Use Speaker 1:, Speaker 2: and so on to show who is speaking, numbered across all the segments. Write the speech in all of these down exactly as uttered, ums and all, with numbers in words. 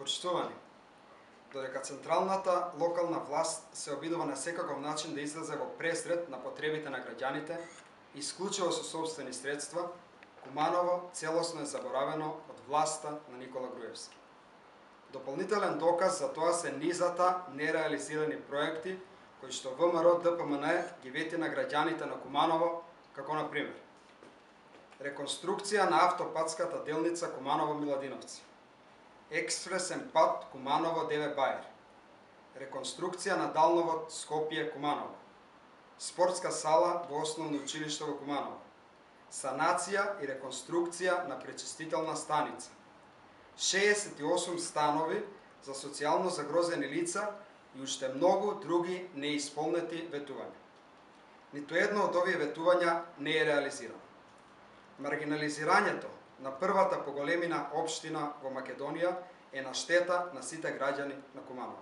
Speaker 1: Почитувани, додека централната локална власт се обидува на секаков начин да излезе во пресред на потребите на граѓаните, исклучиво со собствени средства, Куманово целосно е заборавено од власта на Никола Груевски. Дополнителен доказ за тоа се низата нереализирани проекти кои што ВМРО Д П М Н ги вети на граѓаните на Куманово, како на пример реконструкција на автопатската делница Куманово-Миладиновци, експресен пат Куманово-Деве Бајер, реконструкција на далновод Скопје-Куманово, спортска сала во основно училиште во Куманово, санација и реконструкција на пречистителна станица, шеесет и осум станови за социјално загрозени лица и уште многу други неисполнети ветувања. Ниту едно од овие ветувања не е реализирано. Маргинализирањето на првата по големина општина во Македонија е на штета на сите граѓани на Куманово.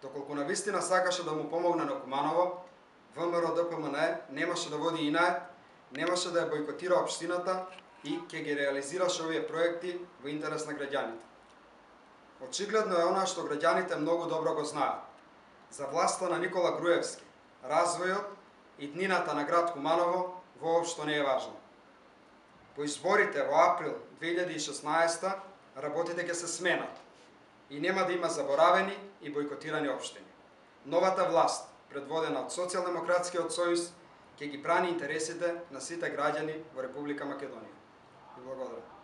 Speaker 1: Доколку навистина сакаше да му помогне на Куманово, ВМРО Д П М Н немаше да води инае, немаше да ја бойкотира општината и ќе ги реализираше овие проекти во интерес на граѓаните. Очигледно е она што граѓаните многу добро го знаат. За власта на Никола Груевски, развојот и днината на град Куманово воопшто не е важно. По изборите во април две илјади и шеснаесета работите ќе се сменат и нема да има заборавени и бойкотирани општини. Новата власт, предводена од Социјалдемократскиот сојуз, ќе ги брани интересите на сите граѓани во Република Македонија. И благодарам.